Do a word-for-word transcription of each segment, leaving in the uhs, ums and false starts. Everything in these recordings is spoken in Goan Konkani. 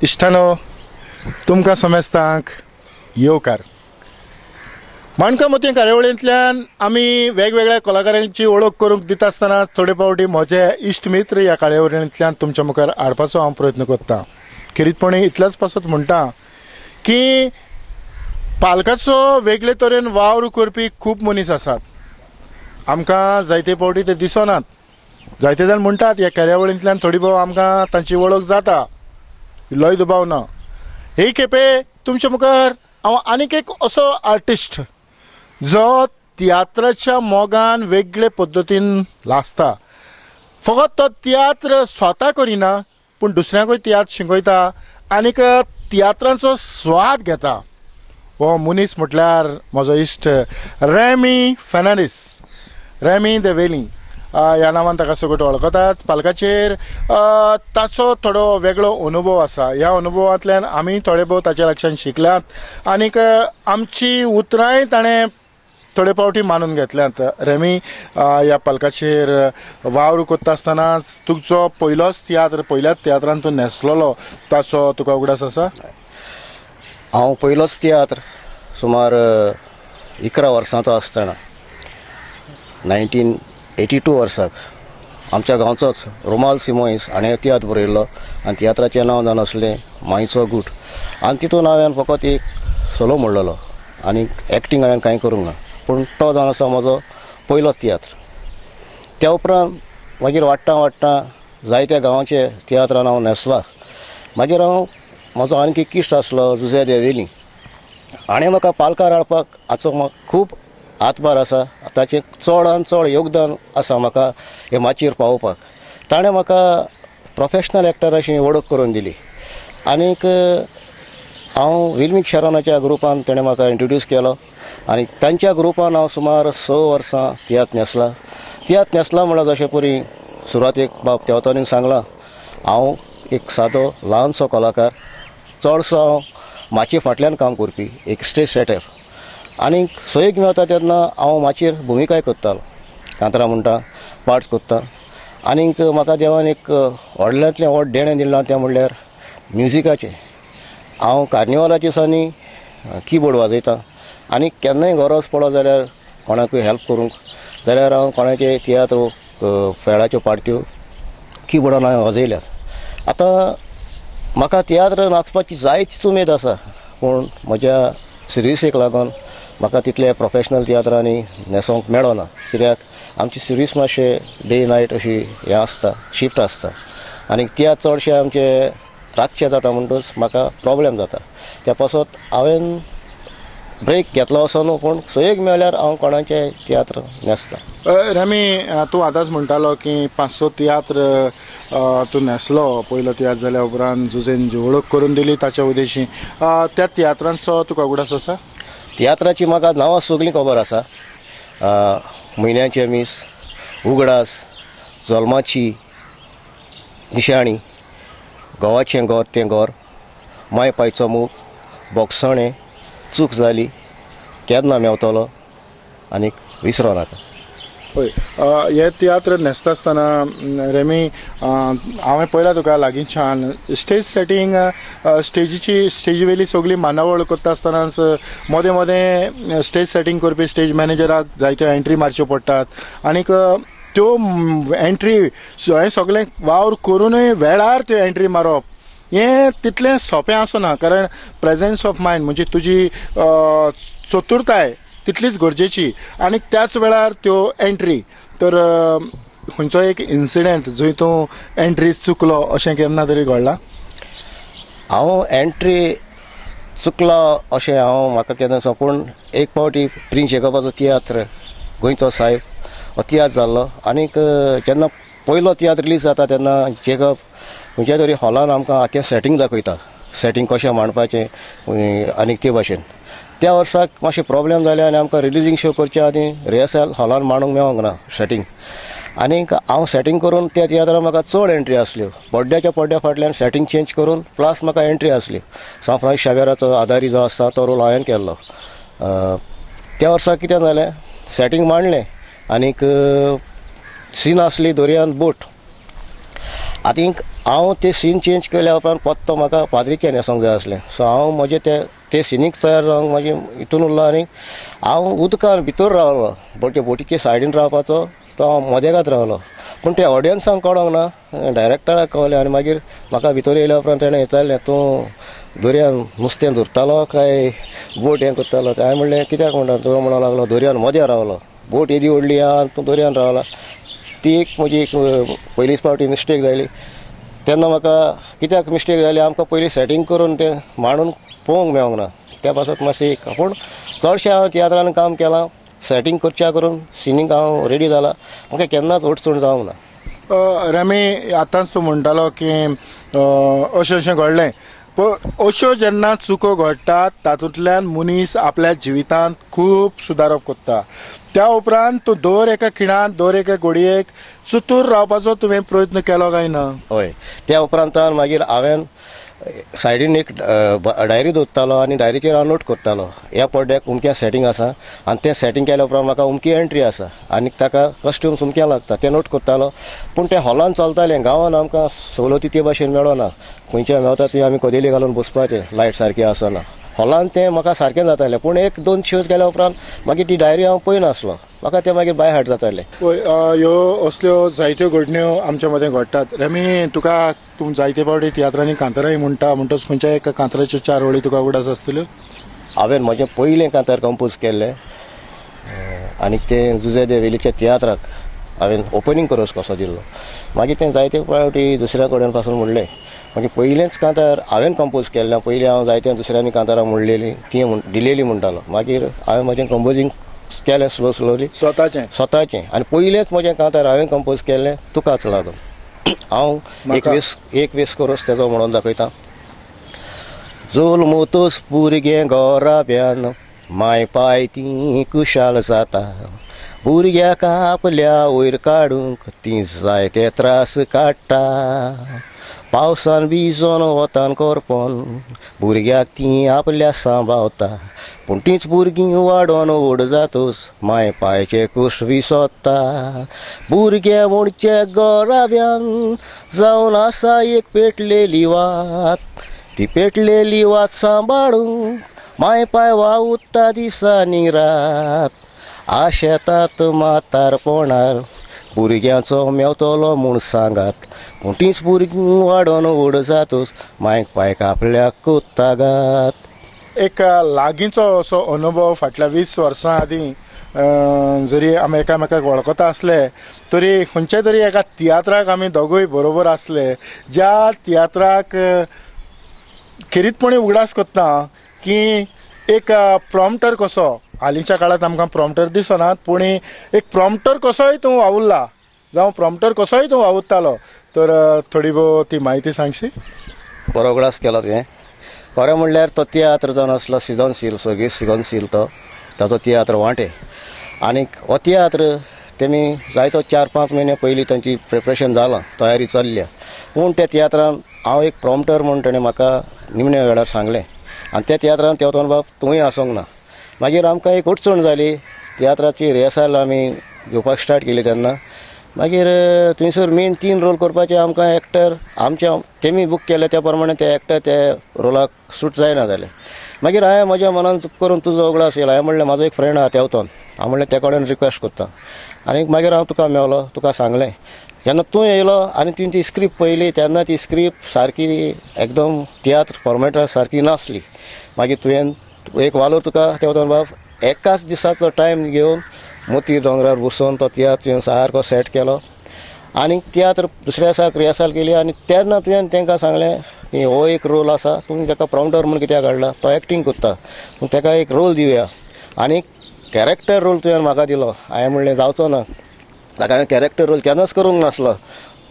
इश्टानो, तुमकां समेस्तांक येवकार. माणकां मोतयां कार्यावळींतल्यान आमी वेगवेगळ्या कलाकारांची वळख करूंक दिता आसतना थोडे फावटी म्हजे इश्ट मित्र ह्या कार्यावळींतल्यान तुमच्या मुखार हाडपाचो हांव प्रयत्न करता. खेरीतपणी इतल्याच पासत म्हणटा की पालकाचो वेगळे तरेन वावर करपी खूब मनीस आसात. आमकां जायते फावटी ते दिसनात. जायते जाण म्हणटात ह्या कार्यावळींतल्यान थोडी भोव आमकां तांची वळख जाता, इल्लोय दुबाव ना. हे खेपे तुमच्या मुखार हांव आनीक एक असो आर्टिस्ट जो तियात्राच्या मोगान वेगळे पद्दतीन लासता. फकत तो तियात्र स्वता करिना पूण दुसऱ्यांकूय तियात्र शिकयता आनीक तियात्रांचो स्वाद घेता. हो मनीस म्हटल्यार म्हजो इश्ट रॅमी फेर्नांडीस, रॅमी the वेली ह्या नांवान ताका सगळे वळखतात. पालकाचेर ताचो थोडो वेगळो अनुभव आसा. ह्या अनुभवांतल्यान आमी थोडे भोव ताच्या लक्षान शिकल्यात आनीक आमची उतरांय ताणें थोडे फावटी मानून घेतल्यात. रॅमी, ह्या पालकाचेर वावर करता आसतना तुजो पयलोच तियात्र, पयल्याच तियात्रान तूं न्हेसलेलो, ताचो तुका उगडास आसा? हांव पयलोच तियात्र सुमार इकरा वर्सांचो आसतना नायन्टीन एटी टू वर्साक आमच्या गांवचोच रुमाल सिमोयस हाणें तियात्र बरयल्लो आनी तियात्राचें नांव जावन आसलें मांयचो गूट. आनी तितून हांवें फकत एक सोलो म्हणलेलो आनी एक्टींग हांवें कांय करूंक ना, पूण तो जावन आसा म्हजो पयलो तियात्र. त्या उपरांत मागीर वाडटा वाडटा जायत्या गांवांचे तियात्रान हांव न्हेसला. मागीर हांव म्हजो आनीक एक इश्ट आसलो जुझे देवेली, हाणें म्हाका पालकार हाडपाक हाचो म्हाका खूब हातभार आसा. ताचें चडान चड योगदान आसा म्हाका हे माचयेर पावोवपाक. ताणें म्हाका प्रोफेशनल एक्टर अशी वळख करून दिली आनीक हांव विल्मीक शरोनाच्या ग्रुपान ताणें म्हाका इंट्रोड्यूस केलो आनी तांच्या ग्रुपान हांव सुमार स वर्सां तियात्र न्हेसला. तियात्र न्हेसला म्हणल्यार जशें परी सुरवातेक बाब तेवतानीन सांगलां, हांव एक सादो ल्हानसो कलाकार, चडसो हांव माचये फाटल्यान काम करपी एक स्टेज सेटर. आनीक सोयीक मेळटा तेन्ना हांव माचयेर भुमिकाय करतालो, कांतरां म्हणटा, पार्ट करता. आनीक म्हाका देवान एक व्हडल्यांतलें व्हड देणें दिलां तें म्हणल्यार म्युजिकाचें. हांव कार्निवालाच्या दिसांनी किबोर्ड वाजयता आनी केन्नाय गरज पडो जाल्यार कोणाकूय हेल्प करूंक जाल्यार हांव कोणाचे तियात्र फेळाच्यो पार्ट्यो किबोर्डान हांवें वाजयल्यात. आतां म्हाका तियात्र नाचपाची जायतीच उमेद आसा, पूण म्हज्या सिरियसेक लागून म्हाका तितले प्रोफेशनल तियात्रांनी न्हेसोंक मेळना, कित्याक आमची सिरीज मातशें डे नायट अशी हें आसता, शिफ्ट आसता आनी तियात्र चडशे आमचे रातचे जाता म्हणटूच म्हाका प्रोब्लेम जाता. त्या पासत हांवें ब्रेक घेतलो असो न्हू, पूण सोयीक मेळ्ळ्यार हांव कोणाचे तियात्र न्हेसता. रॅमी, तूं आतांच म्हणटालो की पांच स तियात्र तूं न्हेसलो. पयलो तियात्र जाल्या उपरांत जुझेन जी वळख करून दिली ताच्या उद्देशी, त्या तियात्रांचो तुका उगडास आसा? तियात्राची म्हाका नांवां सगळीं खबर आसा. म्हयन्याचें मीस, उगडास, जल्माची निशाणी, घोवाचें घर तें घर, माय पायचो मूग, बोगसणें, चूक जाली, केन्ना मेवतलो आनी विसरो नाका. हय, हे तियात्र न्हेसता आसतना रॅमी, हांवें पळयला तुका लागींच्यान स्टेज सेटींग, स्टेजीची स्टेजी वयली सगळी मांडावळ करता आसतनाच मदें मदें स्टेज सेटींग करपी स्टेज मॅनेजराक जायत्यो एंट्री मारच्यो पडटात आनीक त्यो एंट्री हें सगळें वावर करूनय वेळार त्यो एंट्री मारप हें तितलें सोंपें आसना, कारण प्रेजेन्स ऑफ मायंड म्हणजे तुजी चतुरताय तितलीच गरजेची आनी त्याच वेळार त्यो एंट्री. तर खंयचो एक इन्सिडेंट जंय तूं एंट्री चुकलो अशें केन्ना तरी घडलां? हांव एंट्री चुकलो अशें हांव म्हाका केन्ना दिसना, पूण एक फावटी प्रिन्स जेकबाचो तियात्र गोंयचो सायब हो तियात्र जाल्लो आनीक जेन्ना पयलो तियात्र रिलीज जाता तेन्ना जेकब खंयच्या तरी हॉलान आमकां आख्खें सेटींग दाखयता, सेटींग कशें मांडपाचें आनीक ते भाशेन. त्या वर्साक मातशें प्रोब्लेम जाले आनी आमकां रिलीजींग शो करच्या आदीं रिहर्सल हॉलान मांडूंक मेळोंक ना सेटींग. आनीक हांव सेटींग करून त्या तियात्रान म्हाका चड एंट्री आसल्यो, पड्ड्याच्या पड्ड्या फाटल्यान सेटींग चेंज करून प्लस म्हाका एंट्री आसली. सांत फ्रांसीस शावेराचो आदारी जो आसा तो रोल हांवें केल्लो. त्या वर्सा कितें जालें, सेटींग मांडलें आनीक सीन आसली दर्यान बोट. आनीक हांव ते सीन चेंज केल्या उपरांत पत्तो म्हाका पाद्री केन्हेसोंक जाय आसलें. सो हांव म्हजें ते ते सिनीक तयार जावंक म्हाजे हितून उरलो आनी हांव उदकान भितर रावलो, बट बोटीचे सायडीन रावपाचो तो हांव मदेगात रावलो. पूण ते ऑडियन्सांक कळोंक ना, डायरेक्टराक कळलें आनी मागीर म्हाका भितर येयल्या उपरांत तेणें विचारलें, तूं दर्यान नुस्तें धरतालो काय बोट हें करतालो? हांवें म्हणलें कित्याक म्हणटा? तूं म्हणूंक लागलो दर्यान मदें रावलो, बोट येदी व्हडली आहा तूं दर्यान रावला. ती एक म्हजी एक पयलीच फावटी मिस्टेक जाली. तेन्ना म्हाका कित्याक मिस्टेक जाली, आमकां पयलीं सेटींग करून तें मांडून पळोवंक मेळोंक ना, त्या पासत मातशें एक. पूण चडशें हांव तियात्रान काम केलां, सेटींग करच्या करून सिनीक हांव रेडी जाला, म्हाका केन्नाच अडचण जावंक ना. रमी, आतांच तूं म्हणटालो की अशें अशें घडलें, पूण अश्यो जेन्ना चुको घडटात तातूंतल्यान मनीस आपल्या जिवितांत खूब सुदारप करता. त्या उपरांत तूं दर एका खिणांत दर एका घडयेक चतूर रावपाचो तुवें प्रयत्न केलो काय ना? हय, त्या उपरांत मागीर हांवें सायडीन एक डायरी दवरतालो आनी डायरीचेर हांव नोट करतालो, ह्या पड्ड्याक अमकें सेटींग आसा आनी तें सेटींग केल्या उपरांत म्हाका अमकी एंट्री आसा आनी ताका कॉस्ट्यूम्स अमकें लागता, तें नोट करतालो. पूण तें हॉलान चलतालें, गांवान आमकां सवलती ते भाशेन मेळना, खंयच्या मेळटा ती आमी कदेली घालून बसपाचें, लायट सारकी आसना. हॉलान तें म्हाका सारकें जातालें, पूण एक दोन शोज गेल्या उपरांत मागीर ती डायरी हांव पळयनासलो, म्हाका तें मागीर बाय हार्ट जातालें. ह्यो असल्यो जायत्यो घडण्यो आमच्या मदें घडटात. रमी, तुका तूं जायते फावटी तियात्रांनी कांताराय म्हणटा, म्हणटच खंयच्या एका कांताराच्यो चार वळी तुका उगडास आसतल्यो? हांवें म्हजें पयलें कांतार कंपोज केल्लें आनी तें जुजे दे वेलीच्या तियात्राक हांवें ओपनींग कोरस कसो दिल्लो. मागीर तें जायते फावटी दुसऱ्या कडेन पासून म्हणलें. मागीर पयलेंच कांतार हांवें कंपोज केल्लें, पयलीं हांव जायते दुसऱ्यांनी कांतारां म्हणलेलीं ती दिलेली म्हणटालो. मागीर हांवें म्हजें कंपोजींग केलें स्लो स्लोली स्वताचें स्वताचें आनी पयलेंच म्हजें कांतार हांवें कंपोज केल्लें तुकाच लागून. हांव एक वीस एक वीस कोरस तेजो म्हणून दाखयता. जोल्मोतोस भुरगें गोराब्यान माय पाय ती कुशाल जाता, भुरग्याक आपल्या वयर काडूंक ती जायते त्रास काडटा, पावसान भिजोन वतान करपोन भुरग्याक ती आपल्या सांबावता, पूण तींच भुरगीं वाडोन व्हड जातूच माय पायचे कुश विसोता, भुरगे म्हणचे गोराब्यान जावन आसा एक पेटलेली वात, ती पेटलेली वात सांबाळूंक माय पाय वावुरता दिसांनी रात, आशेतात म्हातारपणार भुरग्यांचो मेवतलो म्हूण सांगात, पूण तींच भुरगीं वाडोन व्हड जातूच मायक पायक आपल्याक कोत्तागात. एक लागींचो असो अनुभव फाटल्या वीस वर्सां आदीं जरी आमी एकामेकाक वळखता आसले तरी खंयच्या तरी एका तियात्राक आमी दोगूय बरोबर आसले, ज्या तियात्राक खेरीतपणी उगडास करता की एक प्रॉम्प्टर कसो, हालींच्या काळांत आमकां प्रॉम्प्टर दिसनात, पूण एक प्रॉम्प्टर कसोय तूं वावुरला जावं प्रॉम्प्टर कसोय तूं वावुरतालो, तर थोडी भोव ती म्हायती सांगशी? बरो उगडास केलो तुवें. खरें म्हणल्यार तो तियात्र जावन आसलो सिजनशील, सर्गेस्त सिजनशील तो ताचो तियात्र वांटे. आनी हो तियात्र तेमी जायतो चार पांच म्हयने पयलीं तांची प्रिपरेशन जालां, तयारी चल्ल्या, पूण त्या तियात्रान हांव एक प्रॉम्प्टर म्हूण तेणें म्हाका निमण्या वेळार सांगलें आनी त्या तियात्रान तेवतोन बाब तूंय आसूंक ना. मागीर आमकां एक अडचण जाली, तियात्राची रिहर्सल आमी घेवपाक स्टार्ट केली तेन्ना मागीर थंयसर मेन तीन रोल करपाचे आमकां एक्टर आमच्या तेमी बूक केले त्या प्रमाणे ते एक्टर ते रोलाक सूट जायना जाले. मागीर हांवें म्हज्या मनान करून तुजो उगडास येयलो, हांवें म्हणलें म्हाजो एक फ्रेंड आहा तेवतोन, हांव म्हणलें त्या कडेन रिक्वेस्ट करता आनी मागीर हांव तुका मेवलो, तुका सांगलें. जेन्ना तूं येयलो आनी तुवें ती स्क्रिप्ट पळयली तेन्ना ती स्क्रिप्ट सारकी एकदम तियात्र फॉर्मेटा सारकी नासली. मागीर तुवें एक वालोर तुका तेवतोन बाब एकाच दिसाचो टायम घेवन मोती दोंगरार बसून तो तियात्र तुवें सारको सेट केलो आनी तियात्र दुसऱ्या दिसाक रिहर्सल केली. आनी तेन्ना तुवें तांकां सांगलें की हो एक रोल आसा, तुमी ताका प्रॉम्प्टर म्हूण कित्याक हाडला, तो एक्टींग करता, ताका एक रोल दिवया. आनी कॅरेक्टर रोल तुवें म्हाका दिलो. हांवें म्हणलें जावचो ना, ताका हांवें कॅरेक्टर रोल केन्नाच करूंक नासलो.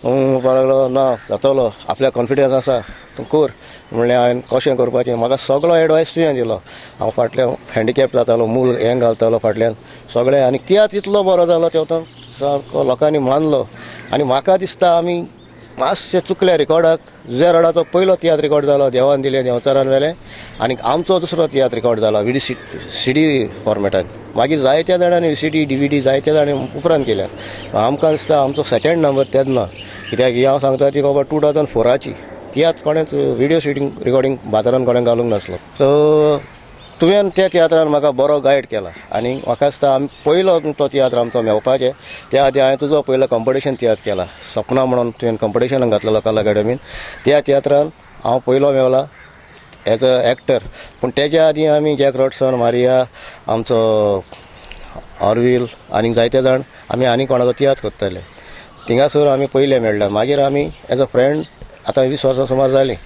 म्हणपाक लागलो ना जातलो, आपल्याक कॉन्फिडन्स आसा, तूं कर. म्हणलें हांवें कशें करपाचें, म्हाका सगळो एडवायस तुवें दिलो. हांव फाटल्यान हँडिकॅप जातालो, मूल हें घालतालो फाटल्यान सगळें, आनी तियात्र इतलो बरो जालो तेवतो सारको लोकांनी मानलो. आनी म्हाका दिसता आमी मातशें चुकल्या रिकॉर्डाक जुझे रोडाचो पयलो तियात्र रिकॉर्ड जालो देवान दिलें देंवचारान वेलें आनी आमचो दुसरो तियात्र रिकॉर्ड जाला व्ही सी सी डी फॉर्मेटान. मागीर जायत्या जाणांनी V C D D V D जायत्या जाणांनी उपरांत केल्या. आमकां दिसता आमचो सेकेंड नंबर तेन्ना, कित्याक ही हांव सांगता ती बाबा टू थावजंड फोराची तियात्र कोणेच व्हिडियो शुटींग रिकॉर्डिंग बाजारान कोणें घालूंक नासलो. सो तुवें त्या तियात्रान म्हाका बरो गायड केला आनी म्हाका दिसता आमी पयलो तो तियात्र आमचो मेवपाचें. त्या आदी हांवें तुजो पयलो कंपिटिशन तियात्र केला सपना म्हणून तुवें कंपिटिशनाक घातलेलो कला अकादमीन. त्या तियात्रान हांव पयलो मेवला एज अ एक्टर. पूण तेज्या आदीं आमी जॅक रॉडसन, मारिया, आमचो ऑरवील आनी जायते जाण आमी आनी कोणाचो तियात्र करताले. थिंगासर आमी पयले मेळ्ळे. मागीर आमी एज अ फ्रेंड आतां वीस वर्सां सुमार जालीं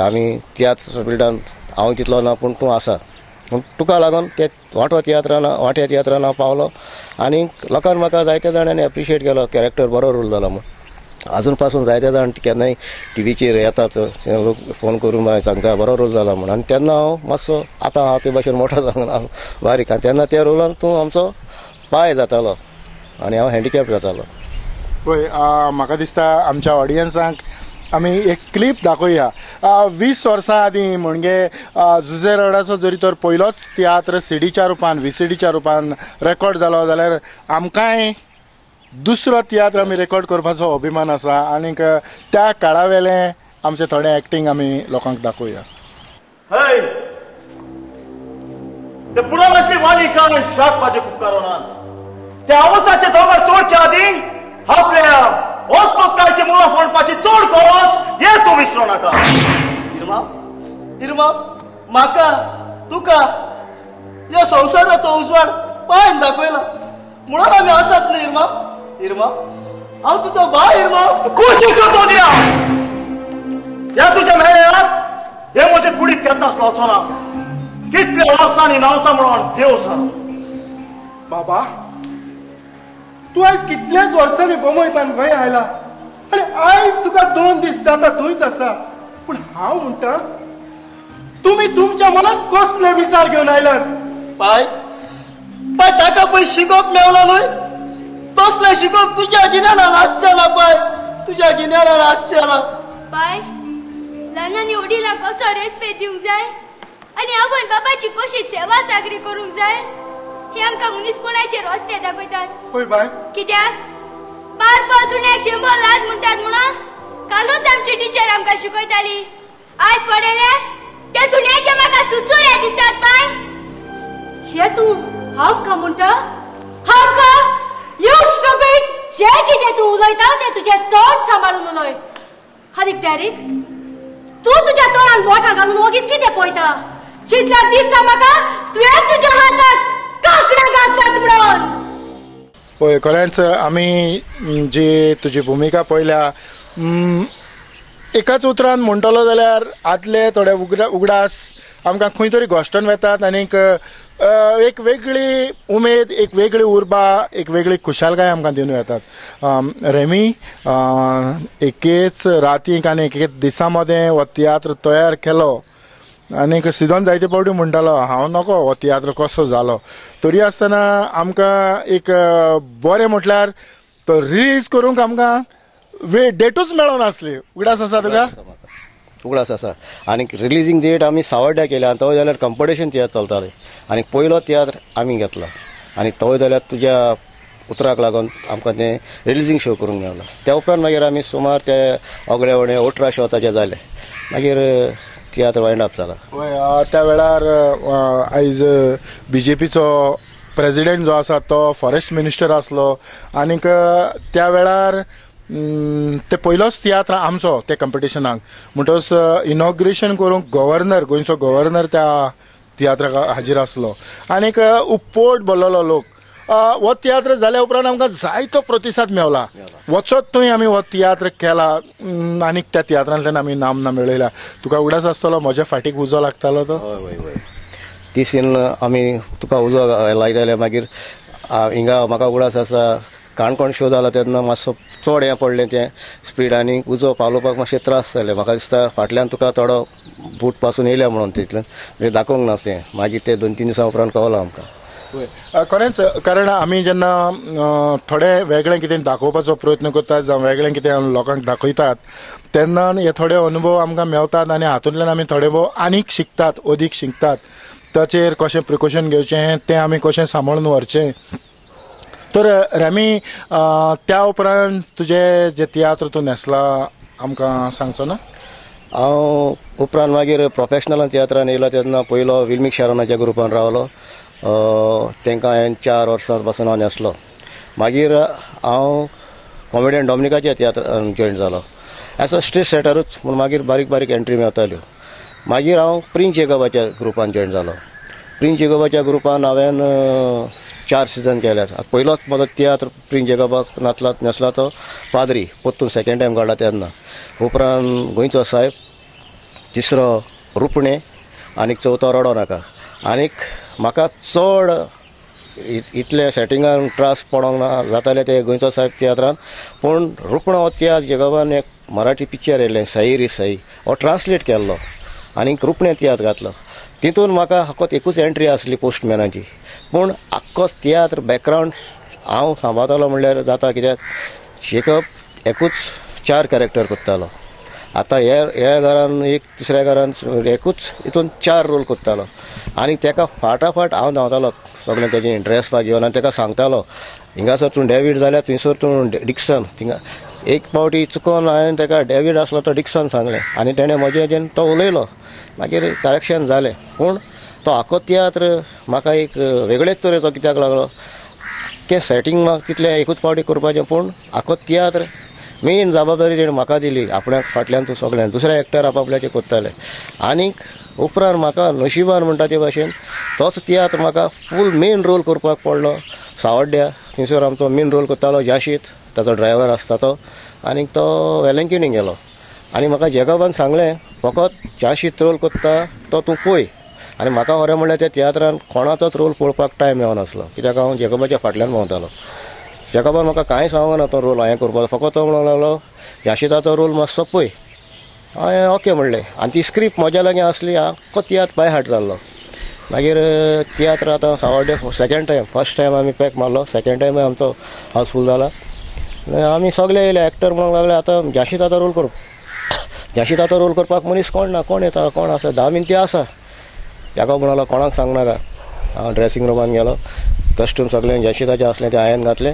आमी तियात्र फिल्डान. हांव तितलो ना पूण तूं आसा, पूण तुका लागून ते वांटो तियात्रान वांट्या तियात्रान हांव पावलो आनी लोकांक म्हाका जायत्या जाणांनी एप्रिशिएट केलो, कॅरेक्टर बरो रोल जाला म्हूण. आजून पासून जायते जाण केन्नाय टिवीचेर येतात, लोक फोन करून मागीर सांगता बरो रोल जाला म्हूण. आनी तेन्ना हांव मातसो आतां हांव ते भाशेन मोठो जावन हांव बारीक, आनी तेन्ना त्या रोलान तूं आमचो पांय जातालो आनी हांव हँडिकॅप जातालो. पळय म्हाका दिसता आमच्या ऑडियन्सांक आमी एक क्लिप दाखोवया. वीस वर्सां आदीं म्हणजे जुझे रोडाचो जरी तर पयलोच तियात्र सीडीच्या रुपान व्ही सी डीच्या रुपान रेकॉर्ड जालो जाल्यार आमकांय दुसरो तियात्र आमी रेकॉर्ड करपाचो अभिमान आसा आनीक त्या काळावेलें आमचें थोडें एक्टींग आमी लोकांक दाखोवया. हय, ते पुराणांतली वाणी कांय शाक भाजी उपकारनात. त्या अवसाचे दोंगर चोडच्या आदीं आपल्या ओस्कोतायचे मुळां फोडपाची चड गरज हे तूं विसरो नाका. इरमा, इरमा, म्हाका तुका ह्या संवसाराचो उजवाड पांयन दाखयला म्हणून आमी आसात न्ही इरमा. इरमा, हांव तुजो भाय इरमा. खुश तो दिला ह्या तुज्या मेळ्यात हे म्हजे कुडीक केन्नाच लावचो ना. कितल्या वर्सांनी न्हांवता म्हणून देव सांग. बाबा, तूं आयज कितल्याच वर्सांनी बोमयतान गोंय आयला आनी आयज तुका दोन दीस जाता थंयच आसा. पूण हांव म्हणटा तुमी तुमच्या मनात कसले विचार घेवन आयलात? पाय पाय ताका पळय शिकोवप मेवला न्हय, तसलें शिकोवप तुज्या गिन्यानान आसचें ना पाय, तुज्या गिन्यानान आसचें ना. पाय, ल्हानांनी वडिलांक कसो रेस्पेद दिवंक जाय आनी आवय बाबाची कशी सेवा चाकरी करूंक जाय हे आमकां मनीसपणाचे रस्ते दाखयतात. हय बाय, कित्याक बार पावस उण्याक शंबर लाज म्हणटात म्हणून कालूच आमची टिचर आमकां शिकयताली. आयज पडले त्या सुण्याचे म्हाका चुचुरे दिसतात बाय. हे तूं आमकां म्हणटा? आमकां? You stupid! जें कितें तूं उलयता तें तुजें तोंड सांबाळून उलय. आनी डॅरीक, तूं तुज्या तोंडान बोटां घालून ओगीच कितें पळयता? चिंतल्यार दिसता म्हाका तुवें तुज्या हाताक कांकणां घातल्यात म्हणून. पळय, खरेंच आमी जी तुजी भुमिका पळयल्या, एकाच उतरान म्हणटलो जाल्यार आदले थोडे उगडा उगडास आमकां खंय तरी घोश्टोन वेतात आनीक एक वेगळी उमेद, एक वेगळी उर्बा, एक वेगळी खुशालकाय आमकां दिवन वेतात. रेमी, एकेच रातीक आनी एकेच दिसा मदें हो तियात्र तयार केलो आनीक सिदोन जायते फावटी म्हणटालो हांव नको हो तियात्र कसो जालो, तरी आसतना आमकां एक बरें म्हटल्यार तो रिलीज करूंक आमकां वे डेटूच मेळोनासली. उगडास आसा तुका? उगडास आसा. आनी रिलीजींग डेट आमी सावर्ड्या केल्या आनी तो जाल्यार कंपिटिशन तियात्र चलताले आनी पयलो तियात्र आमी घेतला आनी तो जाल्यार तुज्या उतराक लागून आमकां तें रिलीजींग शो करूंक मेळ्ळो. त्या उपरांत मागीर आमी सुमार ते ऑगळे वणे अठरा शो ताचे जाले, मागीर तियात्र वायंड अप जाला. हय, त्या वेळार आयज बी जे पीचो प्रेजिडेंट जो आसा तो फॉरेस्ट मिनिस्टर आसलो आनीक त्या वेळार ते पयलोच तियात्र आमचो ते कंपिटिशनाक म्हणटकच इनॉग्रेशन करूंक गव्हर्नर, गोंयचो गव्हर्नर त्या तियात्राक हाजीर आसलो आनीक उपपोट भरलेलो लोक. हो तियात्र जाल्या उपरांत आमकां जायतो प्रतिसाद मेवला. वचत थंय आमी हो तियात्र केला आनीक त्या तियात्रांतल्यान आमी नामना मेळयल्या. तुका उगडास आसतलो म्हज्या फाटीक उजो लागतालो तो? हय हय हय, ती सीन आमी तुका उजो लायताले. मागीर हिंगा म्हाका उगडास आसा काणकोण शो जाला तेन्ना मातसो चड हें पडलें तें स्पीड आनी उजो पालोवपाक मातशें त्रास जाले. म्हाका दिसता फाटल्यान तुका थोडो बूट पासून येयल्या म्हणून तितल्यान म्हणजे दाखोवंक नासलें. मागीर ते दोन तीन दिसां उपरांत कळ्ळो आमकां. खरेंच, कारण आमी जेन्ना थोडे वेगळें कितें दाखोवपाचो प्रयत्न करतात जावं वेगळें कितें लोकांक दाखयतात तेन्ना हे थोडे अनुभव आमकां मेळतात आनी हातूंतल्यान आमी थोडे भोव आनीक शिकतात, अदीक शिकतात. ताचेर कशें प्रिकॉशन घेवचें, तें आमी कशें सांबाळून व्हरचें. तर रॅमी, त्या उपरांत तुजे जे तियात्र तूं न्हेसला आमकां सांगचो ना? हांव उपरांत मागीर प्रोफेशनल तियात्रान येयलो तेन्ना पयलो विल्मीक शारोनाच्या ग्रुपान रावलो. तांकां हांवें चार वर्सां पासून हांव न्हेसलो. मागीर हांव कॉमेडियन डॉमिनिकाच्या तियात्रान जॉयन जालो एज अ स्टेज सेटरूच म्हूण. मागीर बारीक बारीक एंट्री मेळताल्यो. मागीर हांव प्रिन्स जेकबाच्या ग्रुपान जॉयन जालो. प्रिन्स जेकबाच्या ग्रुपान हांवें चार सिजन केल्यात. पयलोच म्हजो तियात्र प्रिन्स जेकबाक नातला न्हेसला तो पाद्री परतून सेकेंड टायम काडला तेन्ना. उपरांत गोंयचो साहेब, तिसरो रुपणें आनी चवथो रडो नाका. आनीक म्हाका चड इतले सेटिंगान त्रास पडोंक ना जाताले ते गोंयचो साहेब तियात्रान. पूण रुपणो हो तियात्र जेकबान एक मराठी पिक्चर येयलें सई रे सई हो ट्रांसलेट केल्लो आनीक रुपणें तियात्र घातलो. तितून म्हाका फकत एकूच एंट्री आसली पोस्टमॅनाची, पूण आख्खो तियात्र बॅकग्रावंड हांव सांबाळतालो म्हणल्यार जाता. कित्याक जेकब एकूच चार कॅरेक्टर करतालो. आतां हे ह्या घरान एक दुसऱ्या घरान एकूच हितून चार रोल करतालो आनी ताका फाटाफाट हांव धांवतालो सगळें तेजें ड्रेस घेवन आनी ताका सांगतालो हिंगासर तूं डेवीड जाल्यार थंयसर तूं डिक्सन. थिंगा एक पावटी चुकोन हांवें ताका डेवीड आसलो तो डिक्सन सांगलें आनी तेणें म्हजें हेजेन तो उलयलो. मागीर करेक्शन जालें. पूण तो आख्खो तियात्र म्हाका एक वेगळेच तरेचो कित्याक लागलो की सेटींग म्हाका तितलें एकूच पावटी करपाचें, पूण आख्खो तियात्र मेन जबाबदारी तेणें म्हाका दिली. आपणाक फाटल्यान तूं सगळ्यान दुसरे एक्टर आपआपल्याचे करताले. आनीक उपरांत म्हाका नशिबान म्हणटा ते भाशेन तोच तियात्र म्हाका फूल मेन रोल करपाक पडलो. सावड्ड्या थंयसर आमचो मेन रोल करतालो जाशीत, ताचो ड्रायव्हर आसता तो, आनीक तो वेलंकिणी गेलो. आनी म्हाका जेकबान सांगलें फकत जाशीत रोल करता तो तूं पळय. आनी म्हाका खरें म्हणल्यार त्या तियात्रान कोणाचोच रोल पळोवपाक टायम मेळनासलो कित्याक हांव जेकबाच्या फाटल्यान भोंवतालो. जेकबान म्हाका कांय सांगूंक ना तो रोल हांवें करपाचो, फकत तो म्हणूंक लागलो जाशीताचो रोल मातसो पळय. हांवें ओके म्हणलें आनी ती स्क्रिप्ट म्हज्या लागीं आसली. आख्खो तियात्र बाय हार्ट जाल्लो. मागीर तियात्र आतां सावड्डे सेकेंड टायम, फर्स्ट टायम आमी पॅक मारलो, सेकेंड टायमूय आमचो हावसफूल जाला. आमी सगळे येयले एक्टर म्हणूंक लागले आतां जाशीताचो रोल कर, जाशीताचो रोल करपाक मनीस कोण ना, कोण येता कोण आसा, धा मिनटी आसा. जेकब म्हणलो कोणाक सांगनाका. हांव ड्रेसिंग रुमान गेलो, कॉस्ट्यूम सगळें जाशीताचें आसलें तें हांवें घातलें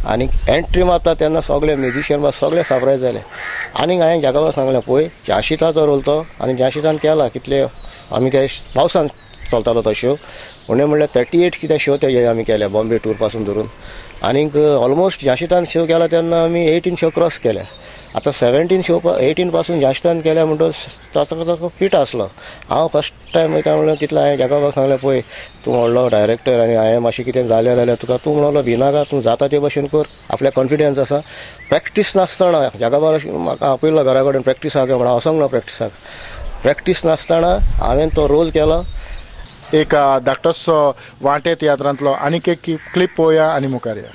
आनी एंट्री मारता तेन्ना सगळे म्युजिशियन बा सगळे सरप्रायज जाले. आनीक हांवें जेकबाक सांगलें पळय जाशीताचो रोल तो आनी जाशीतान केला. कितले आमी ते पावसान चलतालो तो शो, उणें म्हणल्यार थर्टी एट कितें शो ते आमी केले बॉम्बे टूर पासून धरून. आनीक ऑलमोस्ट जाशीतान शो केला तेन्ना आमी एटीन शो क्रॉस केले. आतां सेवेंटीन शो एटीन पासून जाशीतान केल्या म्हणटकच ताचो ताचो फिट आसलो. हांव फर्स्ट टायम वयता म्हणल्यार तितलो हांवें जेकबाक सांगलें पळय तूं व्हडलो डायरेक्टर आनी हांवें मातशें कितें जालें जाल्यार तुका तूं म्हणलो भिनाका, तूं जाता ते भशेन कर, आपल्याक कॉन्फिडन्स आसा. प्रॅक्टीस नासतना जेकबाक म्हाका आपयलो घरा कडेन प्रॅक्टिसाक म्हणून हांव वचोंक ना प्रॅक्टिसाक. प्रॅक्टीस नासतना हांवें तो रोल केलो. एक धाकटोसो वांटे तियात्रांतलो आनीक एक क्लिप पळोवया आनी मुखार या.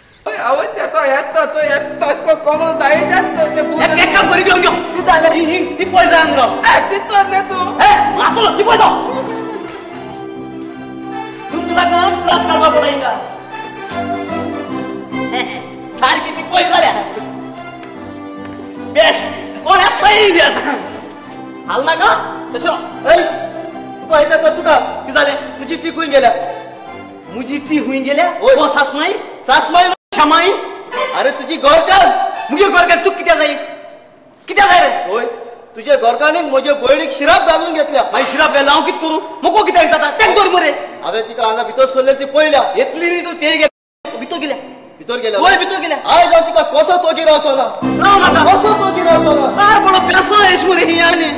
तुका कितें जालें? तुजी ती खंय गेल्या? मुजी ती खंय गेल्या? ओ सासमाई, सासमाई शमाई. अरे तुजी गोरकार, मुगे गोरकार तुका कित्याक जाय? कित्याक जाय रे? होय, तुजे गोरकानीक म्हजे भयणीक शिराप घालून घेतल्या. मागीर शिराप घालून हांव कितें करूं? मोको कित्याक जाता? तेंक दवर मरे. हांवें तिका हांगा भितर सरले ती पळयल्या. येतली न्ही तूं, ते गेल्या भितर गेल्या, भितर गेल्या. होय भितर गेल्या. आयज हांव तिका कसोच वगी रावचो ना, राव नाका, कसोच वगी रावचो ना. आर बरो पेसो येश मरे ही आनी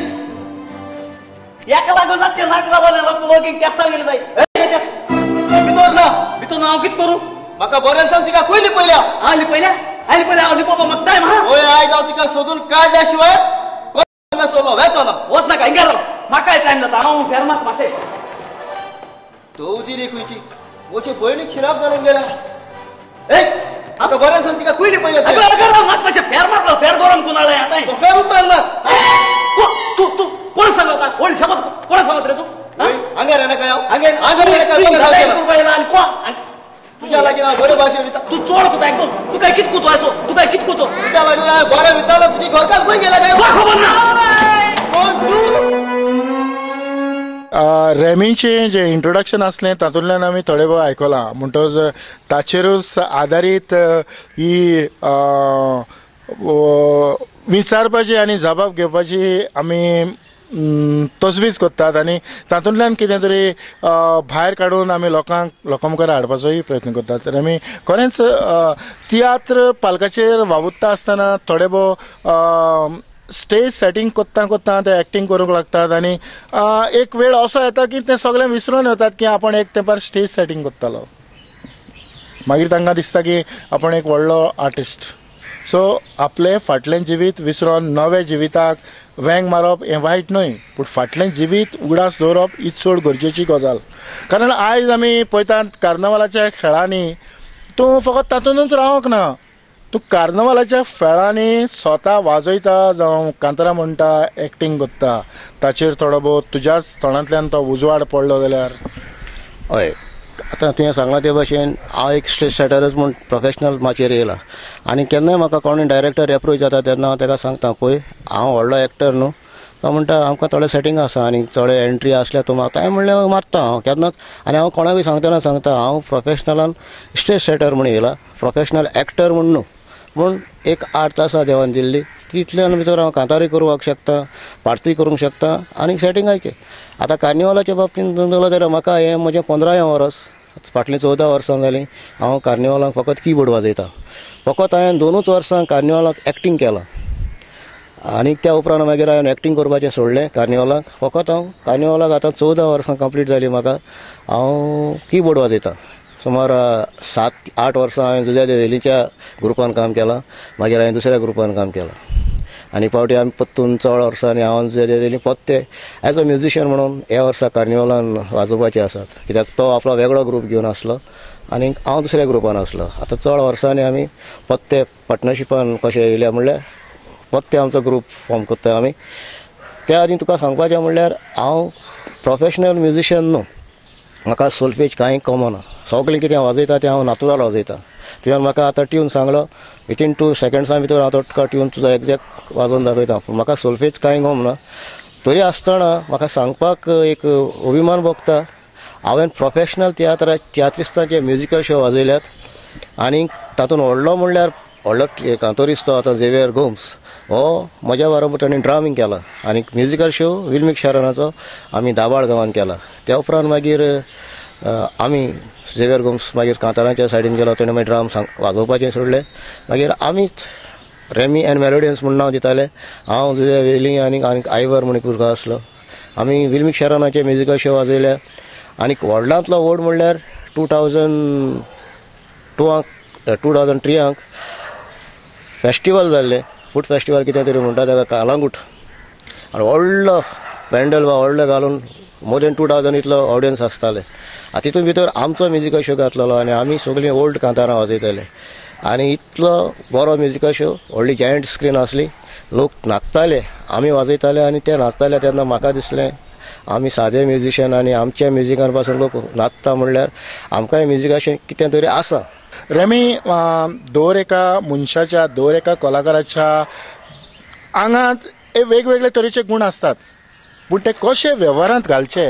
एका लागून जाते नाक जालो लोक केस्तांव गेले जाय. भितर ना, भितर ना. हांव कितें करूं? म्हाका बरें सांग तिका खंय लिपयल्या? हांव लिपयल्या? हांव लिपयल्या? हांव लिपोवपा म्हाका टायम आहा. होय, आयज हांव तिका सोदून काडल्या शिवाय हांगा सोडलो वेचो ना. वच नाका, हिंगा राव, म्हाकाय टायम जाता. हांव फेर मात मातशें दवदी रे खंयची म्हजे भयणीक शिराप घालून गेल्या. ए म्हाका बरें सांग तिका खंय लिपयल्या? अगं म्हाका मातशें फेर मारलो, फेर गरम करून हाडलें आतां. फेर उपरांत मार. तूं तूं कोण सांगता? कोण शपथ कोण सांगत रे तूं? हांगा रे नाका हांव हांगा हांगा रे नाका. कोण तुज्या लागीं हांव बरे भाशेन वयता. तूं चोड कोता एकदम. तूं काय कित कोतो आसो, तूं काय कित कोतो? तुज्या लागीं हांव बरें वयतालो, तुजी घरकान्न खंय गेल्या काय म्हाका खबर ना. कोण तूं? रेमीचें जें इंट्रोडक्शन आसलें तातूंतल्यान आमी थोडे भोव आयकलां, म्हणटकच ताचेरूच आदारीत ही विचारपाची आनी जबाब घेवपाची आमी तजवीज करतात आनी तातूंतल्यान कितें तरी भायर काडून आमी लोकांक लोकां मुखार हाडपाचोय प्रयत्न करतात. तर आमी खरेंच तियात्र पालकाचेर वावुरता आसतना थोडे भोव स्टेज सेटींग करता करता ते एक्टींग करूंक लागतात आनी एक वेळ असो येता की ते सगळें विसरून वतात की आपण एक तेंपार स्टेज सेटींग करतालो. मागीर तांकां दिसता की आपण एक व्हडलो आर्टिस्ट. सो आपलें फाटलें जिवीत विसरून नवें जिविताक वेंग मारप हें वायट न्हय, पूण फाटलें जिवीत उगडास दवरप ही चड गरजेची गजाल. कारण आयज आमी पळयतात कार्नवालाच्या खेळांनी तूं फकत तातूंतच रावंक ना, तूं कार्नवालाच्या खेळांनी स्वता वाजयता जावं कांतारां म्हणटा, एक्टींग करता, ताचेर थोडो भोव तुज्याच तोंडांतल्यान तो उजवाड पडलो जाल्यार. हय, आतां तुवें सांगलां ते भाशेन हांव एक स्टेज सेटरच म्हूण प्रोफेशनल माचयेर येयला आनी केन्नाय म्हाका कोणूय डायरेक्टर एप्रोच जाता तेन्ना हांव ताका सांगता, पळय हांव व्हडलो एक्टर न्हू. तो म्हणटा आमकां थोडे सेटींग आसा आनी थोडे एंट्री आसल्यार तूं मारता. हांवें म्हणलें मारता हांव केन्नाच. आनी हांव कोणाकूय सांगतना सांगता हांव प्रोफेशनलान स्टेज सेटर म्हूण येयला, प्रोफेशनल एक्टर म्हूण न्हू. पूण एक आर्ट आसा देवान दिल्ली, तितल्यान भितर हांव कांतारूय करूंक शकता, पार्तूय करूंक शकता आनी सेटिंगाय. आतां कार्निवालाच्या बाबतींत धरलो जाल्यार म्हाका हें म्हजें पंदरावें वर्स, फाटलीं चवदा वर्सां जालीं हांव कार्निवालाक फकत किबोर्ड वाजयता. फकत हांवें दोनूच वर्सां कार्निवालाक एक्टींग केलां आनी त्या उपरांत मागीर हांवें एक्टींग करपाचें सोडलें कार्निवालाक. फकत हांव कार्निवालाक आतां चवदा वर्सां कंप्लीट जालीं म्हाका, हांव किबोर्ड वाजयता. सुमार सात आठ वर्सां हांवें जुझे दे वेलीच्या ग्रुपान काम केलां, मागीर हांवें दुसऱ्या ग्रुपान काम केलां आनी फावटी आमी पत्तून चड वर्सांनी हांव जुझे दे वेली पत्ते एज अ म्युजिशियन म्हणून ह्या वर्सा कार्निवालान वाजोवपाचे आसात, कित्याक तो आपलो वेगळो ग्रूप घेवन आसलो आनी हांव दुसऱ्या ग्रुपान आसलो. आतां चड वर्सांनी आमी पत्ते पार्टनरशिपान कशें येयल्या म्हणल्यार पत्ते आमचो ग्रूप फॉर्म करता आमी. त्या आदीं तुका सांगपाचें म्हणल्यार हांव प्रोफेशनल म्युजिशियन न्हू, म्हाका सोल्फेज कांय कमना, सगळें कितें वाजयता तें हांव नातुराल वाजयता. तुवें म्हाका आतां ट्यून सांगलो, विथीन टू सेकेंड्सां भितर हांव तो तुका ट्यून तुजो एग्जॅक्ट वाजोवन दाखयता, पूण म्हाका सोल्फेज कांय गमना. तरी आसतना म्हाका सांगपाक एक अभिमान भोगता, हांवें प्रोफेशनल तियात्रा तियात्रिस्तांचे म्युजिकल शो वाजयल्यात आनी तातूंत व्हडलो म्हणल्यार व्हडलो कांतोरिस्त आतां झेवियर गोम्स हो म्हज्या बरोबर ताणें ड्रामींग केला आनी म्युजिकल शो विल्मीक शारनाचो आमी दाबाळ गांवांत केला. त्या उपरांत मागीर आमी झेवियर गोम्स मागीर कांतारांच्या सायडीन गेलो, ताणें मागीर ड्राम सांग वाजोवपाचें सोडलें. मागीर आमीच रेमी एंड मेलोडियन्स म्हूण नांव दिताले. हांव जुझे वेली आनी आनी आयवर म्हूण एक भुरगो आसलो. आमी विल्मीक शारनाचे म्युजिकल शो वाजयले आनी व्हडलांतलो व्हड म्हणल्यार टू थावजंड टूआंक टू थावजंड थ्रीआंक फेस्टिवल जाल्लें, फूड फेस्टिवल कितें तरी म्हणटा ताका, कालांगूट. आनी व्हडलो पॅन्डल वा व्हडलो घालून मोर देन टू थावजंड इतलो ऑडियन्स आसताले. आतां तितून भितर आमचो म्युजिकल शो घातलेलो आनी आमी सगळीं ओल्ड कांतारां वाजयताले आनी इतलो बरो म्युजिकल शो, व्हडली जायंट स्क्रीन आसली, लोक नाचताले, आमी वाजयताले आनी ते नाचताले तेन्ना म्हाका दिसलें आमी सादे म्युजिशियन आनी आमच्या म्युजिकान पासून लोक नाचता म्हणल्यार आमकांय म्युजिकाचें कितें तरी आसा. रेमी, दर एका मनशाच्या, दर एका कलाकाराच्या आंगांत हे वेगवेगळे तरेचे गूण आसतात, पूण ते कशे वेव्हारांत घालचे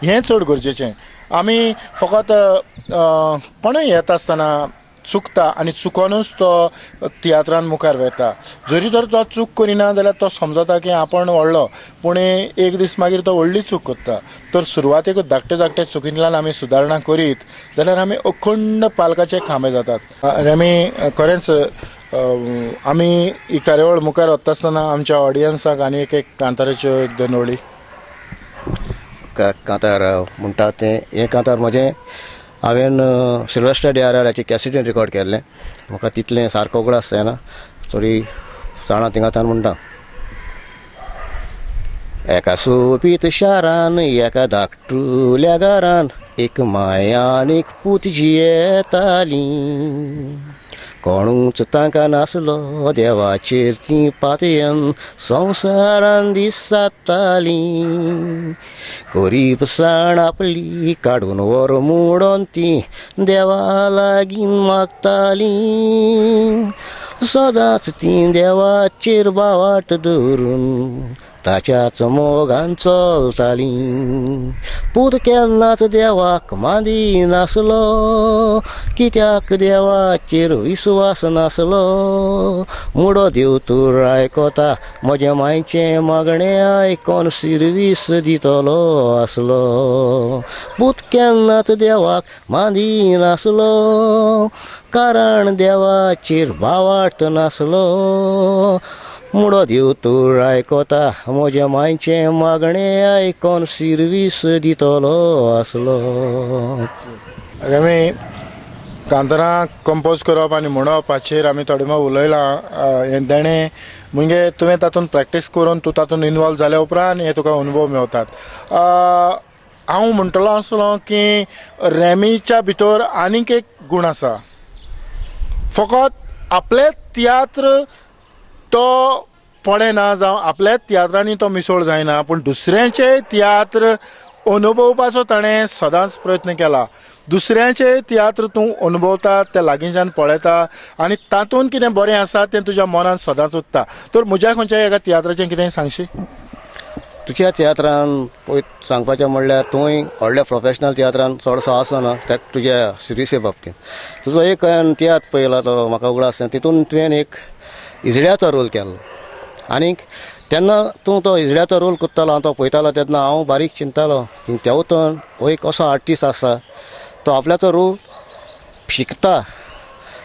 हें चड गरजेचें. आमी फकत कोणूय येता आसतना चुकता आनी चुकोनूच तो तियात्रान मुखार वता. जरी तर तो चूक करिना जाल्यार तो समजता की आपण व्हडलो, पूण एक दीस मागीर तो व्हडली चूक करता. तर सुरवातेकूच धाकटे धाकटे चुकींतल्यान आमी सुदारणा करीत जाल्यार आमी अखंड पालकाचे खांबे जातात. आमी खरेंच आमी ही कार्यावळ मुखार वता आसतना आमच्या ऑडियन्साक आनी एक एक कांताराच्यो एक दोन ओळी. कांतार म्हणटा तें हें कांतार म्हजें हांवें सिल्वेस्टर डी आर आराची कॅसेटीन रिकॉर्ड केल्लें. म्हाका तितलें सारको उगडास जायना, थोडी जाणां थिंगांतान म्हणटा. एका सोबीत शारान एका धाकटुल्या घरान एक माय आनी एक पूत जियेतालीं. कोणूच तांकां नासलो देवाचेर तीं पातयेन संवसारान दिसातालीं गरीबसाण आपली काडून व्हर म्हणून तीं देवा लागीं मागतालीं सदांच तीं देवाचेर बावाट दवरून ताच्याच मोगान चलतालीं पूत केन्नाच देवाक मादी नासलो कित्याक देवाचेर विस्वास नासलो मुडो देव तूं आयकता म्हज्या मायचें मागणें आयकोन सिरवीस दितलो आसलो पूत केन्नाच देवाक मादी नासलो कारण देवाचेर बावाट नासलो मुडो देव तूं आयकता म्हज्या मायचें मागणें आयकोन सिरवीस दितलो आसलो. आमी कांतारां कंपोज करप आनी म्हणप हाचेर आमी थोडे मोव उलयलां. हें देणें म्हणजे तुवें तातूंत प्रॅक्टीस करून तूं तातूंत इनवॉल्व जाल्या उपरांत हे तुका अनुभव मेवतात. हांव म्हणटलो आसलो की रॅमीच्या भितर आनीक एक गूण आसा, फकत आपले तियात्र तो पळयना जावं आपल्याच तियात्रांनी तो मिसळ जायना, पूण दुसऱ्यांचे तियात्र अनुभवपाचो ताणें सदांच प्रयत्न केला. दुसऱ्यांचे तियात्र तूं अनुभवता, ते लागींच्यान पळयता आनी तातूंत कितें बरें आसा तें तुज्या मनांत सदांच उरता. तर म्हज्या खंयच्या एका तियात्राचें कितें सांगशी? तुज्या तियात्रान पळय सांगपाचें म्हणल्यार तूंय व्हडल्या प्रोफेशनल तियात्रान चडसो आसना त्या तुज्या सिरियसे बाबतींत. तुजो एक तियात्र पळयला तो म्हाका उगडास आसना, तितून तुवें एक इजड्याचो रोल केल्लो आनीक तेन्ना तूं तो इजड्याचो रोल करतालो, हांव तो पळयतालो तेन्ना हांव बारीक चिंततालो की तेवतन हो एक असो आर्टिस्ट आसा तो आपल्याचो रोल शिकता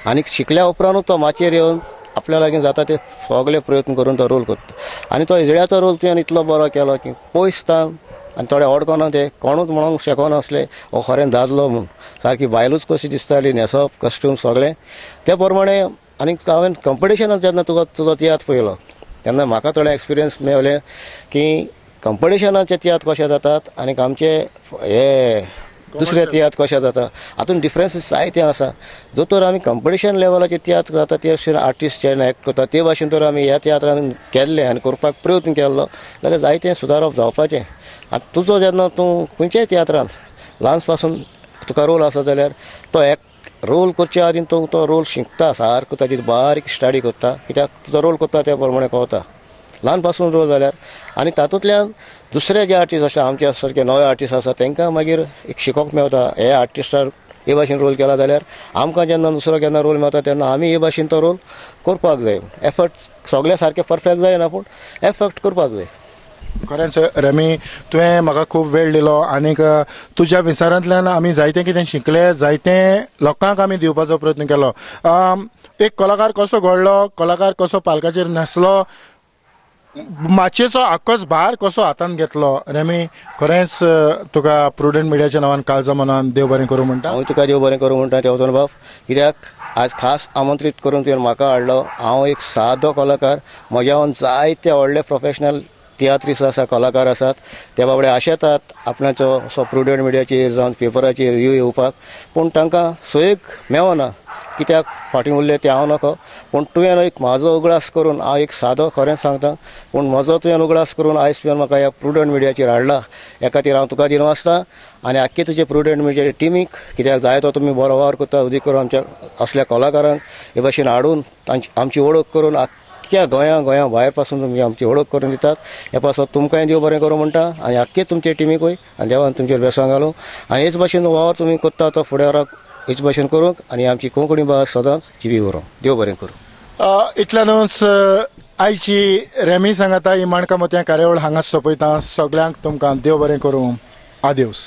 आनी शिकल्या उपरांतूच तो माचयेर येवन आपल्या लागीं जाता ते सगळे प्रयत्न करून तो रोल करता. आनी तो इजड्याचो रोल तुवें इतलो बरो केलो की पयस तान आनी थोडे अडकना ते कोणूच म्हणूंक शकनासले हो खरें दादलो म्हूण, सारकी बायलूच कशी दिसताली, न्हेसप कॉस्ट्यूम सगळें ते प्रमाणे. आनी हांवें कंपिटिशनाक जेन्ना तुका तुजो तियात्र पळयलो तेन्ना म्हाका थोडे एक्सपिरियन्स मेवले की कंपिटिशनाचे तियात्र कशे जातात आनी आमचे हे दुसरे तियात्र कशे जाता हातूंत डिफरन्सीस जायते आसा. दोतोर आमी कंपिटिशन लेवलाचे तियात्र जाता ते भाशेन आर्टिस्ट जे एक्ट करता ते भाशेन तर आमी ह्या तियात्रान केल्ले आनी करपाक प्रयत्न केल्लो जाल्यार जायतें सुदारप जावपाचें. आतां तुजो जेन्ना तूं खंयच्याय तियात्रान ल्हान पासून तुका रोल आसा जाल्यार तो एक्ट रोल करचे आदीं तूं तो रोल शिकता सारको, ताजी बारीक स्टडी करता कित्याक तुजो रोल करता त्या प्रमाणे कळता ल्हान पासून रोल जाल्यार. आनी तातूंतल्यान दुसरे जे आर्टिस्ट आसा आमच्या सारके नवे आर्टिस्ट आसा तांकां मागीर एक शिकोवंक मेवता हे आर्टिस्टार हे भाशेन रोल केला जाल्यार आमकां जेन्ना दुसरो केन्ना रोल मेवता तेन्ना आमी हे भाशेन तो रोल करपाक जाय. एफर्ट सगळे सारके परफेक्ट जायना पूण एफर्ट करपाक जाय. खरेंच रॅमी तुवें म्हाका खूब वेळ दिलो आनीक तुज्या विचारांतल्यान आमी जायतें कितें शिकले, जायतें लोकांक आमी दिवपाचो प्रयत्न केलो. एक कलाकार कसो घडलो, कलाकार कसो पालकाचेर न्हेसलो, माचयेचो आक्कोच भार कसो हातांत घेतलो. रॅमी खरेंच तुका प्रुडंट मिडियाच्या नांवान काळजा मनान देव बरें करूं म्हणटा. हांव तुका देव बरें करूं म्हणटा तेवतन बाब, कित्याक आज खास आमंत्रीत करून तुवें म्हाका हाडलो. हांव एक सादो कलाकार, म्हज्यावन जायते व्हडले प्रोफेशनल तियात्रिस्ट आसा, कलाकार आसात, ते बाबडे आशेतात आपणाचो असो प्रुडंट मिडियाचेर जावं पेपराचेर रिव्यू येवपाक, पूण तांकां सोयीक मेवना कित्याक फाटीं उरले ते हांव नको. पूण तुवें एक म्हाजो उगडास करून, हांव एक सादो खरें सांगता पूण म्हजो तुवें उगडास करून आयज तुवें म्हाका ह्या प्रुडंट मिडियाचेर हाडला, ह्या खातीर हांव तुका दिनवासता आनी आख्खे तुजे प्रुडंट मिडियाचे टिमीक, कित्याक जाय तो तुमी बरो वावर करता उदीक करून आमच्या असल्या कलाकारांक हे भाशेन हाडून तांची आमची वळख करून आख्ख्या गोंया गोंया भायर पासून तुमी आमची वळख करून दितात. हे पासत तुमकांय देव बरें करूं म्हणटा आनी आख्खे तुमचे टिमीकूय, आनी देवान तुमचेर बेसांग घालूं आनी हेच भाशेन वावर तुमी करता तो फुडाराक हेच भाशेन करूंक आनी आमची कोंकणी भास सदांच जिवी उरूं. देव बरें करूं. इतल्यानूच आयची रॅमी सांगाता ही माणकां मोतयां कार्यावळ हांगा सोंपयता. सगल्यांक तुमकां देव बरें करूं. आदेवस.